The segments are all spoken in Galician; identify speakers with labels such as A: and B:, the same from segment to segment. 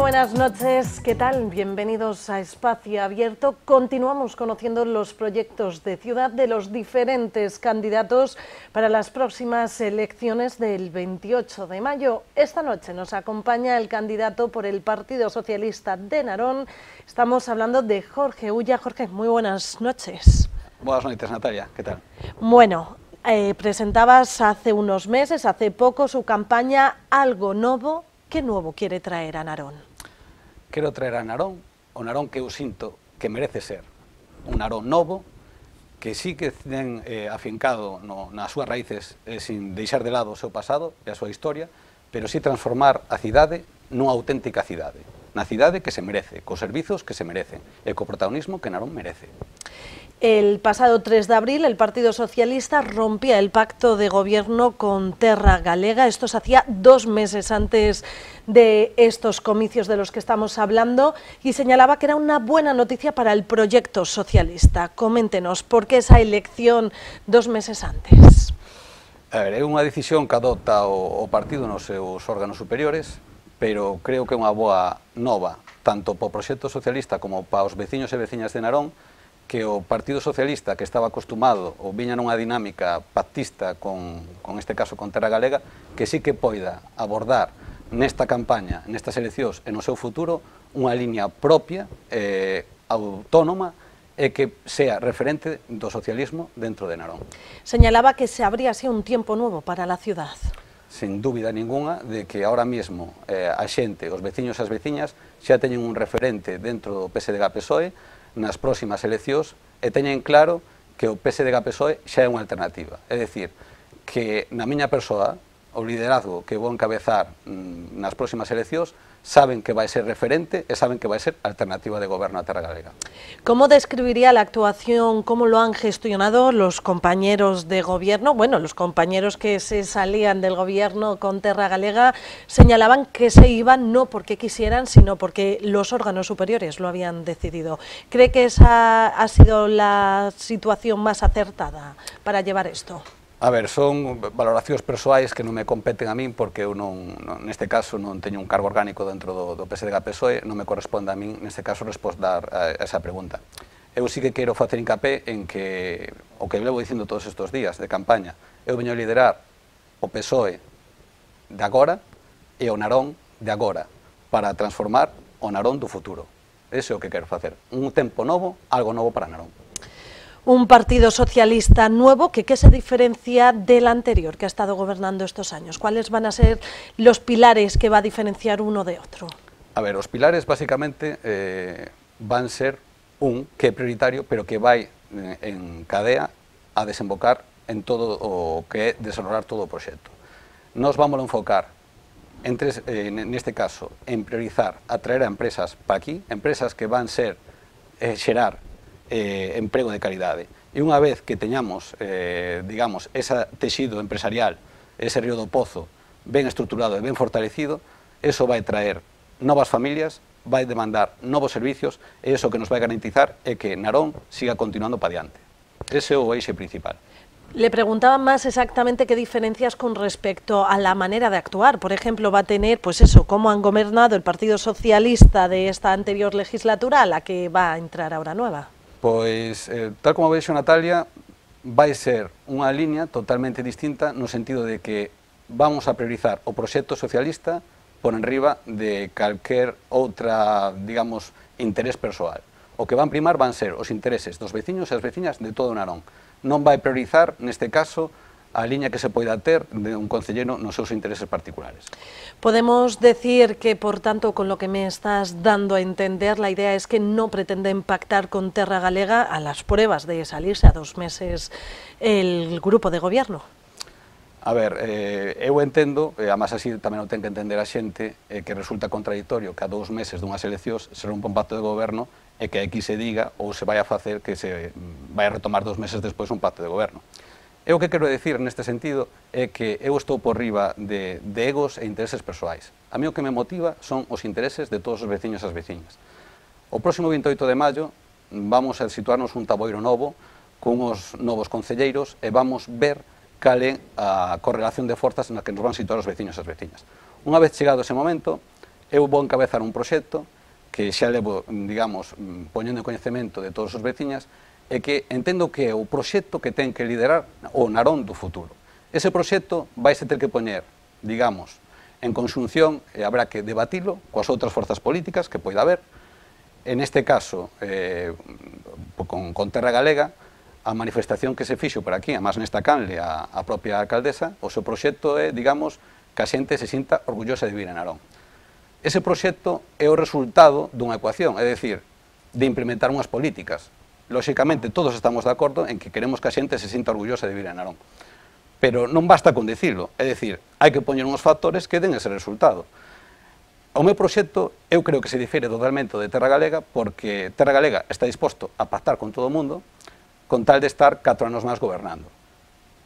A: buenas noches, ¿qué tal? Bienvenidos a Espacio Abierto. Continuamos conociendo los proyectos de ciudad de los diferentes candidatos para las próximas elecciones del 28 de mayo. Esta noche nos acompaña el candidato por el Partido Socialista de Narón. Estamos hablando de Jorge Ulla. Jorge, muy buenas noches.
B: Buenas noches, Natalia, ¿qué tal?
A: Bueno, presentabas hace unos meses, hace poco, su campaña Algo Novo. ¿Qué nuevo quiere traer a Narón?
B: Quero traer a Narón, o Narón que eu sinto que merece ser un Narón novo, que sí que ten afincado nas súas raíces sin deixar de lado o seu pasado e a súa historia, pero sí transformar a cidade nunha auténtica cidade, na cidade que se merece, cos servizos que se merecen e co protagonismo que Narón merece.
A: El pasado 3 de abril el Partido Socialista rompía el pacto de gobierno con Terra Galega. Esto se hacía 2 meses antes de estos comicios de los que estamos hablando y señalaba que era una buena noticia para el proyecto socialista. Coméntenos, ¿por qué esa elección 2 meses antes?
B: A ver, é unha decisión que adopta o partido nos seus órganos superiores, pero creo que é unha boa nova, tanto para o proxecto socialista como para os veciños e veciñas de Narón, que o Partido Socialista, que estaba acostumado ou viña nunha dinámica pactista con este caso con Terra Galega, que sí que poida abordar nesta campaña, nestas eleccións e no seu futuro, unha liña propia, autónoma, e que sea referente do socialismo dentro de Narón.
A: Señalaba que se abría así un tiempo nuevo para la ciudad.
B: Sin dúbida ninguna de que ahora mesmo a xente, os veciños e as veciñas, xa teñen un referente dentro do PSDG-PSOE nas próximas eleccións e teñen claro que o PSDG-PSOE xa é unha alternativa. É dicir, que na miña persoa, o liderazgo que vou encabezar nas próximas eleccións, saben que vai ser referente e saben que vai ser alternativa de goberno a Terra Galega.
A: ¿Cómo describiría la actuación, cómo lo han gestionado los compañeros de gobierno? Bueno, los compañeros que se salían del gobierno con Terra Galega señalaban que se iban no porque quisieran, sino porque los órganos superiores lo habían decidido. ¿Cree que esa ha sido la situación más acertada para llevar esto?
B: A ver, son valoracións persoais que non me competen a min porque eu neste caso non teño un cargo orgánico dentro do PSDG-PSOE, non me corresponde a min neste caso responder a esa pregunta. Eu sí que quero facer hincapé en que o que levo dicindo todos estes días de campaña, eu veño a liderar o PSOE de agora e o Narón de agora para transformar o Narón do futuro. Ese é o que quero facer, un tempo novo, algo novo para Narón.
A: Un partido socialista nuevo que ¿qué se diferencia del anterior que ha estado gobernando estos años? ¿Cuáles van a ser los pilares que va a diferenciar uno de otro?
B: A ver, os pilares básicamente van ser que é prioritario, pero que vai en cadea a desembocar en todo o que é desarrollar todo o proxecto. Nos vamos a enfocar, neste caso, en priorizar atraer a empresas para aquí, empresas que van ser xerar emprego de calidade. E unha vez que teñamos, digamos, ese texido empresarial, ese río do Pozo ben estruturado e ben fortalecido, eso vai traer novas familias, vai demandar novos servicios e eso que nos vai garantizar é que Narón siga continuando para diante. Ese é o eixe principal.
A: Le preguntaba más exactamente qué diferencias con respecto a la manera de actuar. Por ejemplo, va a tener, pues eso, cómo han gobernado el Partido Socialista de esta anterior legislatura a la que va a entrar ahora nueva.
B: Pois, tal como vexo, Natalia, vai ser unha liña totalmente distinta no sentido de que vamos a priorizar o proxecto socialista por enriba de calquer outra, digamos, interés persoal. O que van primar van ser os intereses dos veciños e as veciñas de todo o Narón. Non vai priorizar, neste caso, a liña que se poida ter de un concelleiro nos seus intereses particulares.
A: Podemos decir que, por tanto, con lo que me estás dando a entender, la idea es que no pretenden pactar con Terra Galega a las pruebas de salirse a 2 meses el grupo de gobierno.
B: A ver, eu entendo, e además así tamén o ten que entender a xente, que resulta contradictorio que a 2 meses dunhas eleccións se rompa un pacto de goberno e que aquí se diga ou se vai a facer que se vai a retomar 2 meses despois un pacto de goberno. Eu o que quero decir neste sentido é que eu estou por riba de egos e intereses persoais. A mí o que me motiva son os intereses de todos os veciños e as veciñas. O próximo 28 de maio vamos a situarnos un taboiro novo con os novos concelleiros e vamos ver cal é a correlación de forzas na que nos van situar os veciños e as veciñas. Unha vez chegado ese momento, eu vou encabezar un proxecto que xa levo, digamos, poñendo en coñecemento de todos os veciñas, e que entendo que é o proxecto que ten que liderar o Narón do futuro. Ese proxecto vaise ter que poñer, digamos, en conxunción, e habrá que debatilo coas outras forzas políticas que poida haber. En este caso, con Terra Galega, a manifestación que se fixo por aquí, además nesta canle, a propia alcaldesa, o seu proxecto é, digamos, que a xente se sinta orgullosa de vivir en Narón. Ese proxecto é o resultado dunha ecuación, é dicir, de implementar unhas políticas. Lóxicamente, todos estamos de acordo en que queremos que a xente se sinta orgullosa de vivir en Narón. Pero non basta con dicilo, é dicir, hai que poñer uns factores que den ese resultado. O meu proxecto, eu creo que se difire totalmente de Terra Galega, porque Terra Galega está disposto a pactar con todo o mundo con tal de estar 4 anos máis gobernando.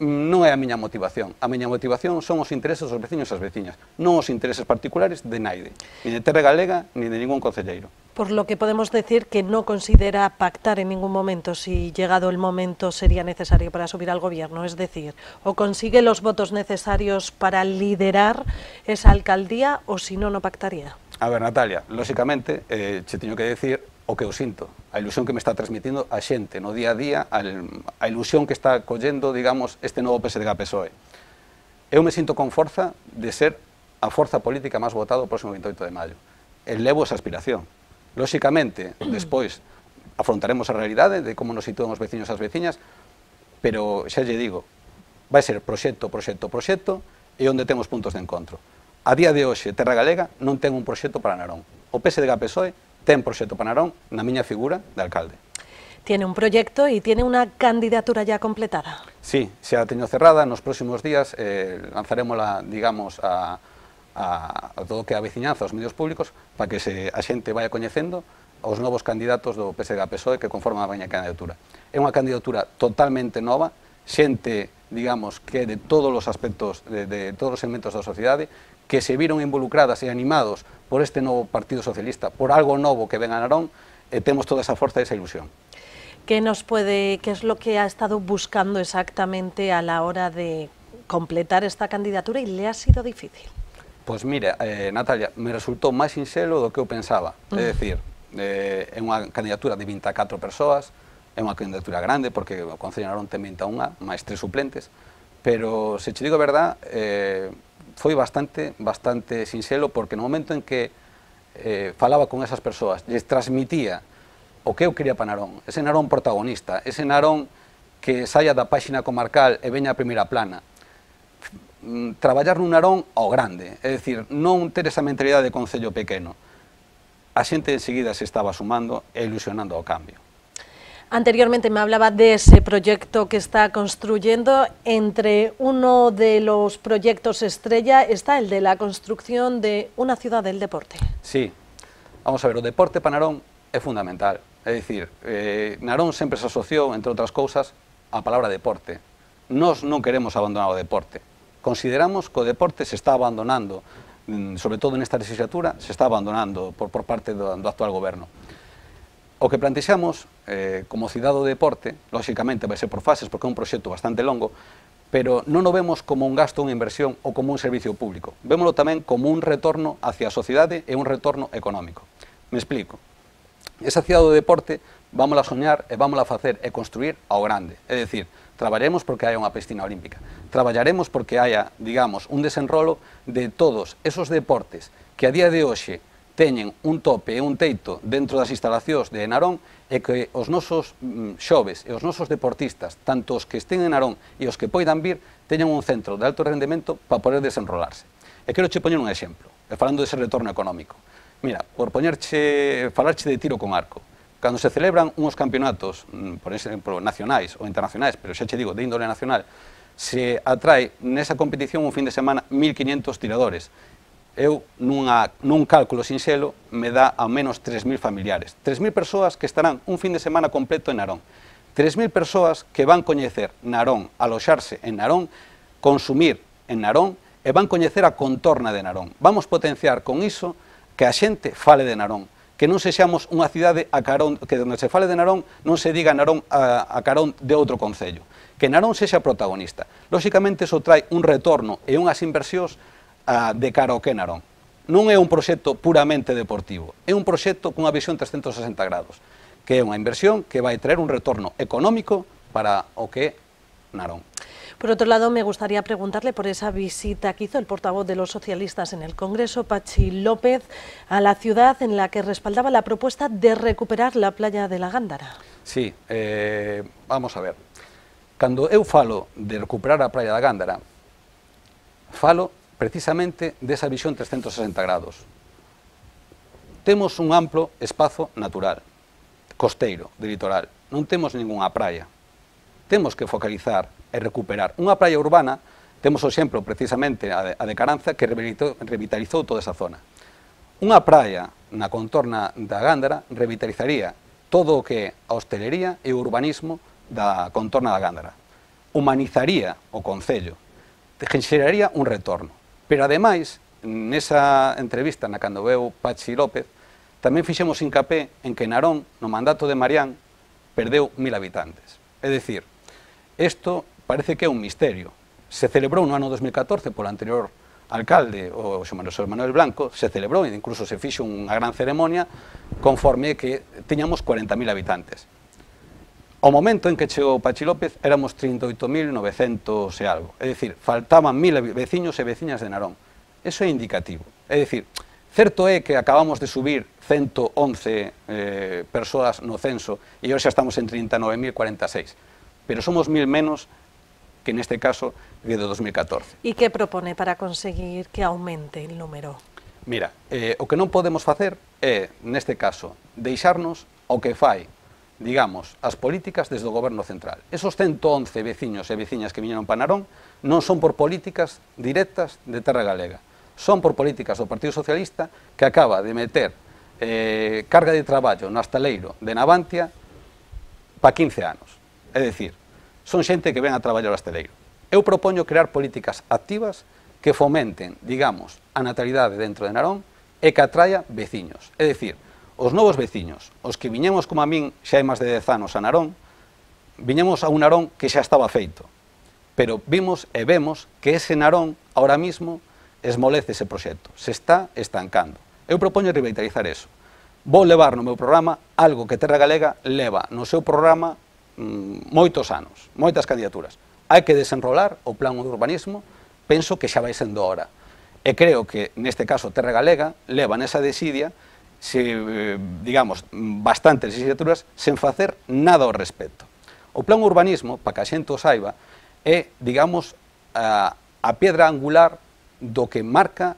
B: Non é a miña motivación. A miña motivación son os intereses dos veciños e as veciñas, non os intereses particulares de naide, ni de Terra Galega, ni de ningún concelleiro.
A: Por lo que podemos decir que no considera pactar en ningún momento si llegado el momento sería necesario para subir al gobierno, es decir, o consigue los votos necesarios para liderar esa alcaldía o si no, no pactaría.
B: A ver, Natalia, lóxicamente, che teño que decir o que eu sinto, a ilusión que me está transmitindo a xente no día a día, a ilusión que está collendo, digamos, este novo PSDG-PSOE. Eu me sinto con forza de ser a forza política máis votada o próximo 28 de maio. Elevo esa aspiración. Lóxicamente, despois afrontaremos a realidade de como nos sitúan os veciños e as veciñas, pero xa lle digo, vai ser proxecto, proxecto, proxecto, e onde temos puntos de encontro. A día de hoxe, Terra Galega non ten un proxecto para Narón. O PSDG-PSOE ten proxecto para Narón na miña figura de alcalde.
A: Tiene un proyecto y tiene una candidatura ya completada.
B: Sí, xa a teño cerrada, nos próximos días lanzarémola, digamos, a todo o que a veciñanza, aos medios públicos, para que a xente vaya coñecendo os novos candidatos do PSDG-PSOE que conforman a miña candidatura. É unha candidatura totalmente nova, xente, digamos, que de todos os aspectos, de todos os segmentos da sociedade, que se viron involucradas e animados por este novo Partido Socialista, por algo novo que ven a Narón, e temos toda esa forza e esa ilusión.
A: ¿Qué es lo que ha estado buscando exactamente a la hora de completar esta candidatura y le ha sido difícil?
B: Pois mira, Natalia, me resultou máis sinxelo do que eu pensaba. É dicir, é unha candidatura de 24 persoas, é unha candidatura grande, porque o Concello de Narón ten 21, máis 3 suplentes, pero, se che digo a verdad, foi bastante sinxelo, porque no momento en que falaba con esas persoas, lles transmitía o que eu quería para Narón, ese Narón protagonista, ese Narón que saia da páxina comarcal e veña a primeira plana, traballar nun Narón ao grande, é dicir, non ter esa mentalidade de concello pequeno. A xente enseguida se estaba sumando e ilusionando ao cambio.
A: Anteriormente me hablaba de ese proyecto que está construyendo. Entre uno de los proyectos estrella está el de la construcción de una ciudad del deporte.
B: Sí, vamos a ver, o deporte para Narón é fundamental. É dicir, Narón sempre se asociou, entre outras cousas, a palabra deporte. Nós non queremos abandonar o deporte. Consideramos que o deporte se está abandonando, sobre todo nesta legislatura, se está abandonando por parte do actual goberno. O que plantexamos como cidade do deporte, lóxicamente vai ser por fases, porque é un proxecto bastante longo, pero non o vemos como un gasto, unha inversión ou como un servicio público. Vémolo tamén como un retorno hacia a sociedade e un retorno económico. Me explico. Esa cidade do deporte vámola a soñar e vámola a facer e construir ao grande. É dicir, traballaremos porque haya unha piscina olímpica, traballaremos porque haya, digamos, un desenrolo de todos esos deportes que a día de hoxe teñen un tope e un teito dentro das instalacións de Narón, e que os nosos xoves e os nosos deportistas, tanto os que estén en Narón e os que poidan vir, teñan un centro de alto rendemento para poder desenrolarse. E quero che poñer un exemplo, falando dese retorno económico. Mira, por falarche de tiro con arco, cando se celebran uns campeonatos, por exemplo, nacionais ou internacionais, pero xa che digo, de índole nacional, se atrae nesa competición un fin de semana 1.500 tiradores. Eu, nun cálculo sinxelo, me dá ao menos 3.000 familiares. 3.000 persoas que estarán un fin de semana completo en Narón. 3.000 persoas que van coñecer Narón, aloxarse en Narón, consumir en Narón e van coñecer a contorna de Narón. Vamos potenciar con iso que a xente fale de Narón, que non sexamos unha cidade a carón, que onde se fale de Narón non se diga Narón a carón de outro concello, que Narón sexa protagonista. Lóxicamente, iso trae un retorno e unhas inversións de cara ao que Narón. non é un proxecto puramente deportivo, é un proxecto cunha visión 360 grados, que é unha inversión que vai traer un retorno económico para o que é Narón.
A: Por otro lado, me gustaría preguntarle por esa visita que hizo el portavoz de los socialistas en el Congreso, Patxi López, a la ciudad en la que respaldaba la propuesta de recuperar la playa de la Gándara.
B: Sí, vamos a ver. Cando eu falo de recuperar a playa da Gándara, falo precisamente desa visión 360 grados. Temos un amplo espazo natural, costeiro, de litoral. Non temos ningunha praia. Temos que focalizar e recuperar. Unha praia urbana, temos o exemplo precisamente a de Caranza, que revitalizou toda esa zona. Unha praia na contorna da Gándara revitalizaría todo o que é a hostelería e o urbanismo da contorna da Gándara. Humanizaría o concello, xeraría un retorno. Pero ademais, nesa entrevista na cando veu Patxi López, tamén fixemos hincapé en que Narón, no mandato de Marián, perdeu 1000 habitantes. É dicir, isto parece que é un misterio. Se celebrou no ano 2014 polo anterior alcalde, o Xosé Manuel Blanco, se celebrou e incluso se fixo unha gran ceremonia conforme que tiñamos 40.000 habitantes. Ao momento en que chegou Patxi López éramos 38.900 e algo. É dicir, faltaban 1000 veciños e veciñas de Narón. Eso é indicativo. É dicir, certo é que acabamos de subir 111 persoas no censo e hoxe estamos en 39.046. Pero somos 1000 menos que neste caso de 2014.
A: ¿Y qué propone para conseguir que aumente el número?
B: Mira, o que non podemos facer é, neste caso, deixarnos o que fai, digamos, as políticas desde o goberno central. Esos 111 veciños e veciñas que viñeron para Narón non son por políticas directas de terra galega, son por políticas do Partido Socialista que acaba de meter carga de traballo no astaleiro de Navantia para 15 anos. É dicir, son xente que ven a traballar ao asteleiro. Eu propoño crear políticas activas que fomenten, digamos, a natalidade dentro de Narón e que atraia veciños. É dicir, os novos veciños, os que viñemos como a min xa hai máis de 10 anos a Narón, viñemos a un Narón que xa estaba feito. Pero vimos e vemos que ese Narón, ahora mismo, esmolece ese proxecto, se está estancando. Eu propoño revitalizar eso. Vou levar no meu programa algo que Terra Galega leva no seu programa moitos anos, moitas candidaturas. Hai que desenrolar o plan de urbanismo, penso que xa vai sendo hora. E creo que, neste caso, Terra Galega leva nesa desidia, digamos, bastantes legislaturas sen facer nada ao respecto. O plan urbanismo, para que a xente o saiba, é, digamos, a pedra angular do que marca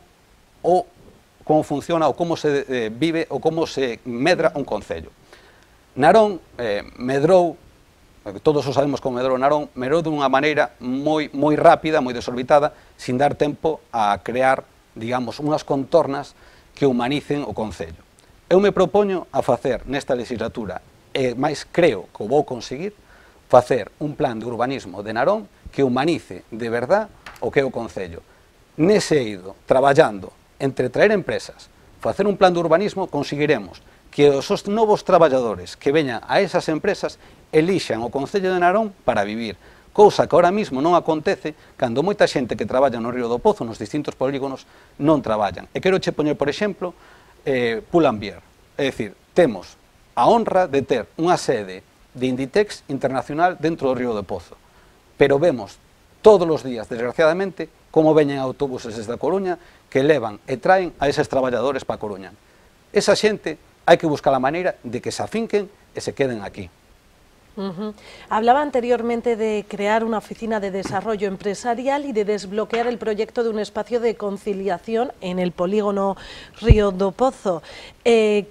B: o como funciona, ou como se vive, ou como se medra un concello. Narón medrou, todos o sabemos como medrou Narón, medrou dunha maneira moi rápida, moi desorbitada, sin dar tempo a crear, digamos, unhas contornas que humanicen o concello. Eu me propoño a facer nesta legislatura, e máis creo que o vou conseguir, facer un plan de urbanismo de Narón que humanice de verdad o que é o concello. Nese eido, traballando entre traer empresas, facer un plan de urbanismo, conseguiremos que os novos traballadores que veñan a esas empresas elixan o Concello de Narón para vivir, cousa que ahora mismo non acontece cando moita xente que traballa no Río do Pozo, nos distintos polígonos, non traballan. E quero che poñer, por exemplo, Pull&Bear. É dicir, temos a honra de ter unha sede de Inditex internacional dentro do Río do Pozo, pero vemos todos os días, desgraciadamente, como veñen autobuses desde a Coruña que levan e traen a eses traballadores para a Coruña. Esa xente hai que buscar a maneira de que se afinquen e se queden aquí.
A: Hablaba anteriormente de crear una oficina de desarrollo empresarial y de desbloquear el proyecto de un espacio de conciliación en el polígono Río do Pozo.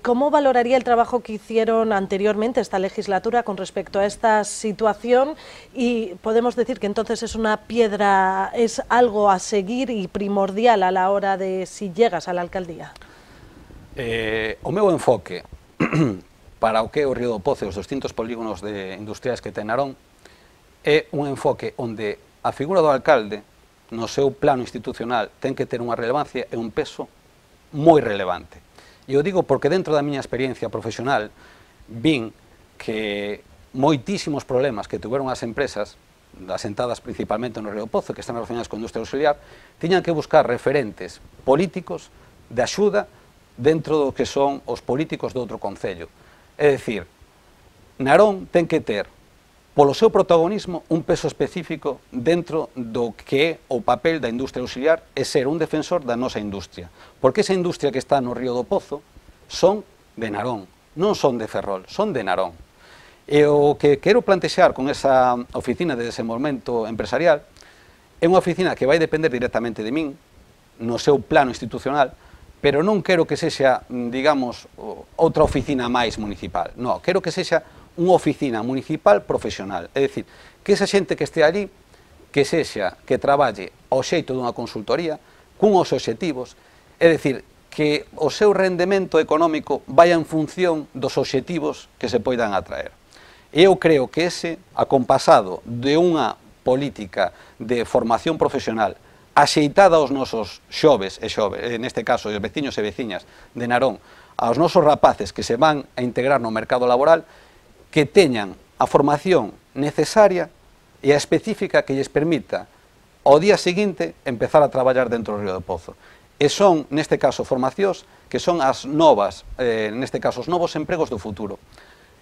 A: ¿Cómo valoraría el trabajo que hicieron anteriormente esta legislatura con respecto a esta situación? Y podemos decir que entonces es una piedra, es algo a seguir y primordial a la hora de si llegas a la alcaldía.
B: O meu enfoque para o que é o Río do Pozo e os distintos polígonos industriais que ten Narón é un enfoque onde a figura do alcalde no seu plano institucional ten que ter unha relevancia e un peso moi relevante. E o digo porque dentro da miña experiencia profesional vin que moitísimos problemas que tuveron as empresas asentadas principalmente no Río do Pozo, que están relacionadas con a industria auxiliar, tiñan que buscar referentes políticos de axuda dentro do que son os políticos do outro concello. É dicir, Narón ten que ter, polo seu protagonismo, un peso específico dentro do que é o papel da industria auxiliar e ser un defensor da nosa industria. Porque esa industria que está no Río do Pozo son de Narón, non son de Ferrol, son de Narón. E o que quero plantexar con esa oficina de desenvolvemento empresarial é unha oficina que vai depender directamente de min, no seu plano institucional, pero non quero que sexa, digamos, outra oficina máis municipal. Non, quero que sexa unha oficina municipal profesional. É dicir, que esa xente que este allí, que sexa, que traballe ao xeito dunha consultoría, cunhos obxectivos, é dicir, que o seu rendemento económico vai en función dos obxectivos que se poidan atraer. Eu creo que ese, acompasado de unha política de formación profesional axeitada aos nosos xoves, neste caso, os veciños e veciñas de Narón, aos nosos rapaces que se van a integrar no mercado laboral, que teñan a formación necesaria e a específica que lles permita ao día seguinte empezar a traballar dentro do Río do Pozo. E son, neste caso, formacións que son as novas, neste caso, os novos empregos do futuro.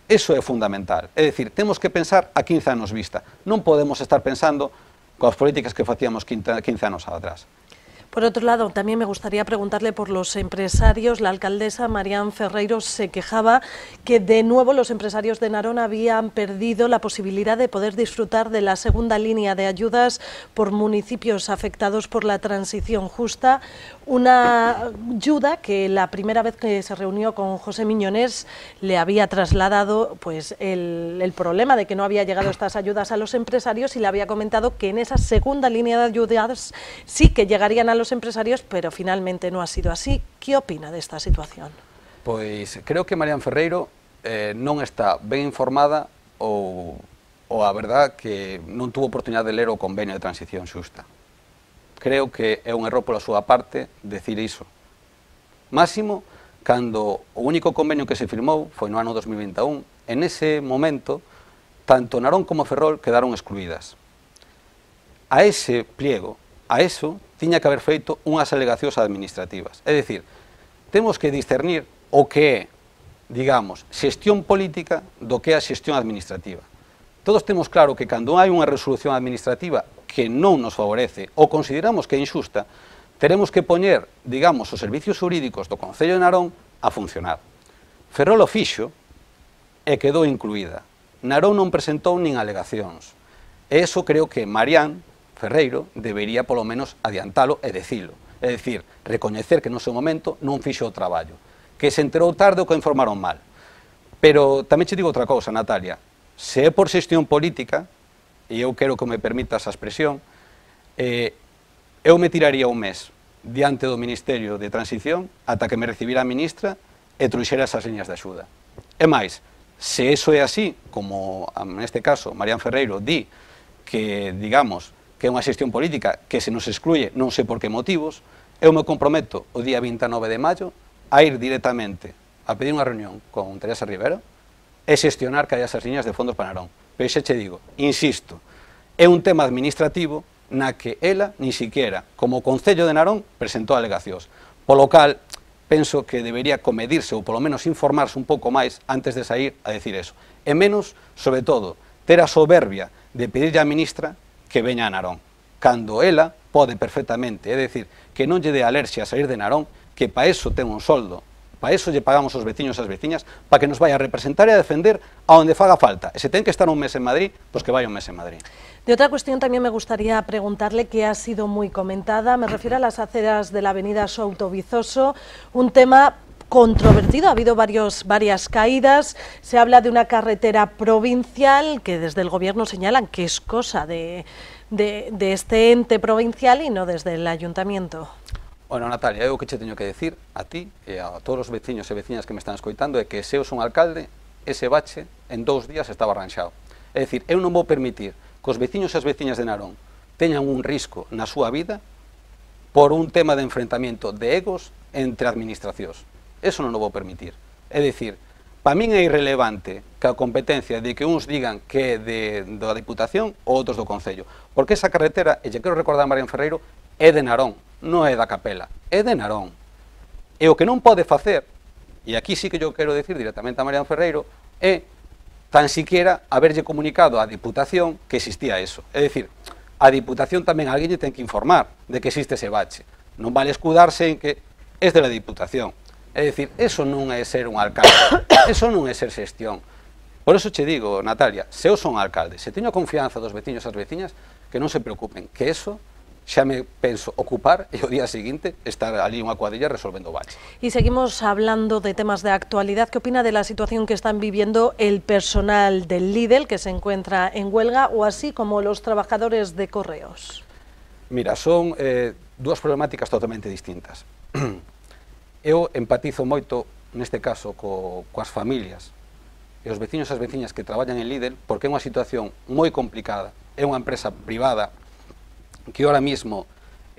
B: Eso é fundamental. É dicir, temos que pensar a 15 anos vista. Non podemos estar pensando coas políticas que facíamos 15 anos atrás.
A: Por otro lado, también me gustaría preguntarle por los empresarios. La alcaldesa Marián Ferreiro se quejaba que de nuevo los empresarios de Narón habían perdido la posibilidad de poder disfrutar de la segunda línea de ayudas por municipios afectados por la transición justa, una ayuda que la primera vez que se reunió con José Miñonés le había trasladado pues, el problema de que no había llegado estas ayudas a los empresarios y le había comentado que en esa segunda línea de ayudas sí que llegarían a los empresarios, pero finalmente no ha sido así. ¿Qué opina de esta situación?
B: Pois creo que Marián Ferreiro non está ben informada ou a verdad que non tuvo oportunidade de ler o convenio de transición xusta. Creo que é un error pola súa parte decir iso. Máximo, cando o único convenio que se firmou foi no ano 2021, en ese momento, tanto Narón como Ferrol quedaron excluídas. A ese pliego, a eso, tiña que haber feito unhas alegacións administrativas. É dicir, temos que discernir o que é, digamos, xestión política do que é a xestión administrativa. Todos temos claro que cando hai unha resolución administrativa que non nos favorece ou consideramos que é injusta, teremos que poñer, digamos, os servicios jurídicos do Concello de Narón a funcionar. Ferrol o fixo e quedou incluída. Narón non presentou nin alegacións. E eso creo que Marián Ferreiro debería polo menos adiantalo e decilo. É dicir, recoñecer que no seu momento non fixo o traballo, que se enterou tarde ou que informaron mal. Pero tamén che digo outra cousa, Natalia, se é por xestión política, e eu quero que me permita esa expresión, eu me tiraría un mes diante do Ministerio de Transición ata que me recibira a ministra e trouxera esas liñas de axuda. E máis, se eso é así, como neste caso Marián Ferreiro di que, digamos, que é unha xestión política que se nos excluye non sei por que motivos, eu me comprometo o día 29 de maio a ir directamente a pedir unha reunión con Teresa Rivera e xestionar que haya esas liñas de fondos para Narón. Pero xa che digo, insisto, é un tema administrativo na que ela, ni siquiera, como Concello de Narón, presentou alegacións. Polo cal, penso que debería comedirse ou polo menos informarse un pouco máis antes de sair a decir eso. E menos, sobre todo, ter a soberbia de pedirlle á ministra que veña a Narón, cando ela pode perfectamente, é dicir, que non lle dé alerxia a sair de Narón, que para eso ten un soldo, para eso lle pagamos os veciños e as veciñas, para que nos vai a representar e a defender a onde faga falta. E se ten que estar un mes en Madrid, pois que vai un mes en Madrid.
A: De otra cuestión también me gustaría preguntarle, que ha sido muy comentada, me refiero a las aceras de la avenida Souto Vizoso, un tema controvertido, ha habido varias caídas, se habla de una carretera provincial que desde el gobierno señalan que es cosa de este ente provincial y no desde el ayuntamiento.
B: Bueno, Natalia, eu que che teño que decir a ti e a todos os veciños e veciñas que me están escoitando é que se eu son alcalde, ese bache en 2 días estaba arranxado. É dicir, eu non vou permitir que os veciños e as veciñas de Narón teñan un risco na súa vida por un tema de enfrentamento de egos entre administracións. Eso non o vou permitir. É dicir, para min é irrelevante que a competencia de que uns digan que é da Diputación ou outros do Concello. Porque esa carretera, e lle quero recordar a Marián Ferreiro, é de Narón, non é da Capela, é de Narón. E o que non pode facer, e aquí sí que eu quero decir directamente a Mariano Ferreiro, é tan siquiera haberlle comunicado á Diputación que existía eso. É dicir, a Diputación tamén alguén lle ten que informar de que existe ese bache. Non vale escudarse en que é de la Diputación. É dicir, eso non é ser un alcalde, eso non é ser xestión. Por eso che digo, Natalia, se eu son alcalde, se teño a confianza dos veciños e as veciñas, que non se preocupen, que eso xa me penso ocupar e o día seguinte estar ali unha cuadrilla resolvendo o bache.
A: Y seguimos hablando de temas de actualidad. ¿Qué opina de la situación que están viviendo el personal del Lidl, que se encuentra en huelga, o así como los trabajadores de Correos?
B: Mira, son dúas problemáticas totalmente distintas. Eu empatizo moito, neste caso, coas familias e os veciños e as veciñas que traballan en Lidl, porque é unha situación moi complicada, é unha empresa privada que ahora mismo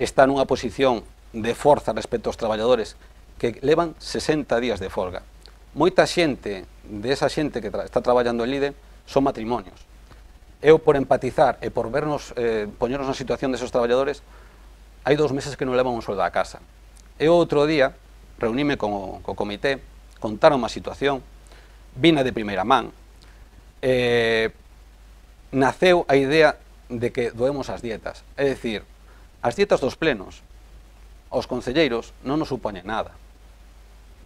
B: está nunha posición de forza respecto aos traballadores que levan 60 días de folga. Moita xente, desa xente que está traballando en Lidl, son matrimonios. Eu, por empatizar e por vernos, poñernos na situación desos traballadores, hai 2 meses que non levan un soldo a casa. Eu outro día reuníme co comité, contaron a situación, vina de primeira man, naceu a idea de que doemos as dietas. É dicir, as dietas dos plenos, aos concelleiros non nos supoñen nada.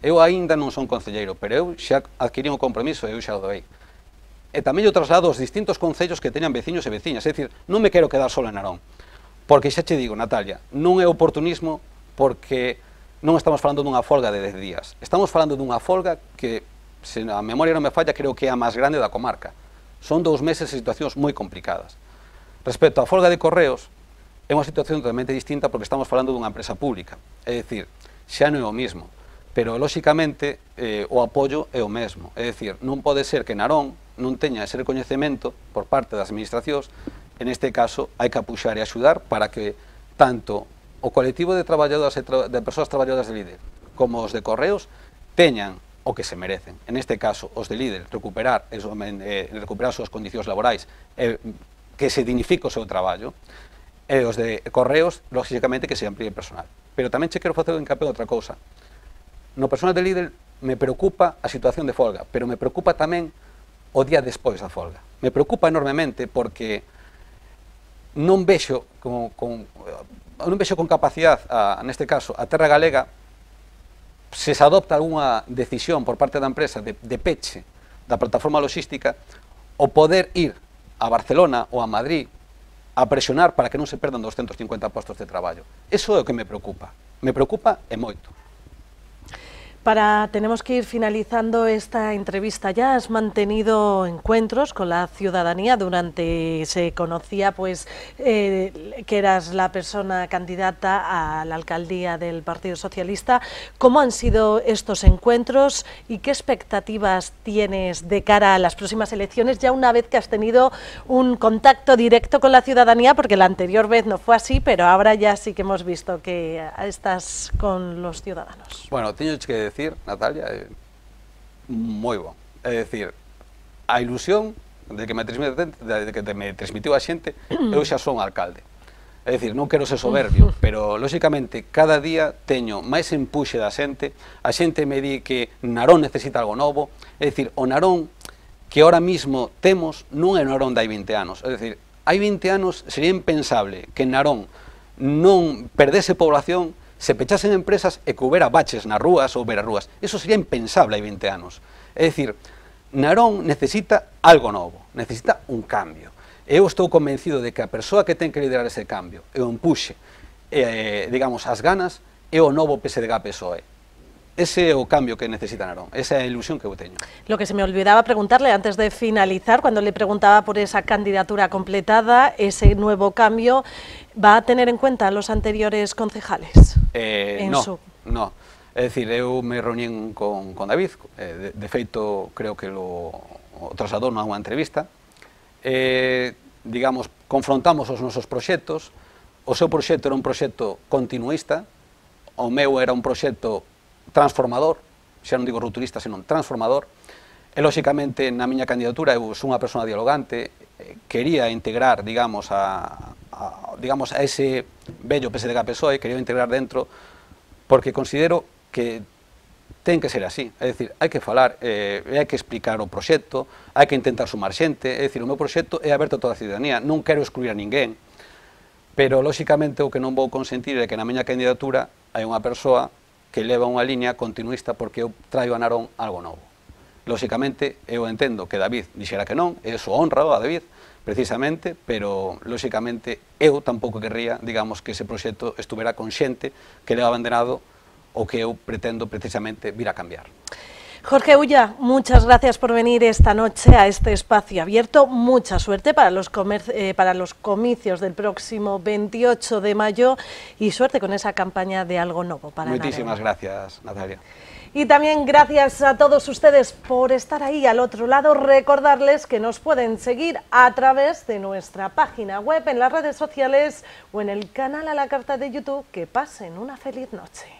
B: Eu aínda non son concelleiro, pero eu xa adquirí un compromiso e eu xa o doei. E tamén eu traslado aos distintos concellos que teñan veciños e veciñas. É dicir, non me quero quedar solo en Narón. Porque xa che digo, Natalia, non é oportunismo porque non estamos falando dunha folga de 10 días. Estamos falando dunha folga que, se a memoria non me falla, creo que é a máis grande da comarca. Son 2 meses de situacións moi complicadas. Respecto á folga de Correos, é unha situación totalmente distinta porque estamos falando dunha empresa pública. É dicir, xa non é o mismo, pero, lóxicamente, o apoio é o mesmo. É dicir, non pode ser que Narón non teña ese recoñecemento por parte das administracións. En este caso, hai que apuxar e axudar para que tanto o colectivo de traballadoras e de persoas traballadoras de Lidl como os de Correos teñan o que se merecen. En este caso, os de Lidl recuperar as súas condicións laborais, que se dignifique o seu traballo, e os de Correos, lógicamente, que se amplíe personal. Pero tamén che quero facer un hincapié outra cousa. No personal de Lidl me preocupa a situación de folga, pero me preocupa tamén o día despois da folga. Me preocupa enormemente porque non vexo con capacidade, neste caso, a terra galega, se adopta algunha decisión por parte da empresa de peche da plataforma logística, o poder ir a Barcelona ou a Madrid a presionar para que non se perdan 250 postos de traballo. Eso é o que me preocupa e moito.
A: Tenemos que ir finalizando esta entrevista ya. Has mantenido encuentros con la ciudadanía durante, se conocía pues que eras la persona candidata a la alcaldía del Partido Socialista. ¿Cómo han sido estos encuentros y qué expectativas tienes de cara a las próximas elecciones, ya una vez que has tenido un contacto directo con la ciudadanía? Porque la anterior vez no fue así, pero ahora ya sí que hemos visto que estás con los ciudadanos.
B: Bueno, teño que decir, Natalia, moi bon. É dicir, a ilusión de que me transmitiu a xente, eu xa son alcalde. É dicir, non quero ser soberbio, pero, lóxicamente, cada día teño máis empuxe da xente, a xente me di que Narón necesita algo novo, é dicir, o Narón que ahora mismo temos non é o Narón de hai 20 anos, é dicir, hai 20 anos sería impensable que Narón non perdese población, se pechasen empresas e que houbera baches nas rúas ou verarrúas. Eso sería impensable hai 20 anos. É dicir, Narón necesita algo novo, necesita un cambio. Eu estou convencido de que a persoa que ten que liderar ese cambio e o empuxe, digamos, as ganas, é o novo PSDG-PSOE. Ese é o cambio que necesita Narón, esa é a ilusión que eu teño.
A: Lo que se me olvidaba preguntarle antes de finalizar, cuando le preguntaba por esa candidatura completada, ese nuevo cambio, ¿va a tener en cuenta a los anteriores concejales?
B: No. É dicir, eu me reunín con David, de feito, creo que o trasladou nunha entrevista, digamos, confrontamos os nosos proxectos. O seu proxecto era un proxecto continuista, o meu era un proxecto transformador, xa non digo rupturista, senón transformador, e, lóxicamente, na miña candidatura eu sou unha persona dialogante, quería integrar, digamos, a ese bello PSDG-PSOE, quería integrar dentro, porque considero que ten que ser así, é dicir, hai que falar, hai que explicar o proxecto, hai que intentar sumar xente, é dicir, o meu proxecto é aberto a toda a ciudadanía, non quero excluir a ninguén, pero, lóxicamente, o que non vou consentir é que na miña candidatura hai unha persoa que leva unha liña continuista porque eu traio a Narón algo novo. Lóxicamente, eu entendo que David dixera que non, e iso honra a David, precisamente, pero, lóxicamente, eu tampouco querría, digamos, que ese proxecto estuvera con xente que leva abanderado o que eu pretendo precisamente vir a cambiar.
A: Jorge Ulla, muchas gracias por venir esta noche a este espacio abierto. Mucha suerte para los comicios del próximo 28 de mayo y suerte con esa campaña de Algo Novo para Narón.
B: Muchísimas gracias, Natalia.
A: Y también gracias a todos ustedes por estar ahí al otro lado. Recordarles que nos pueden seguir a través de nuestra página web, en las redes sociales o en el canal a la carta de YouTube. Que pasen una feliz noche.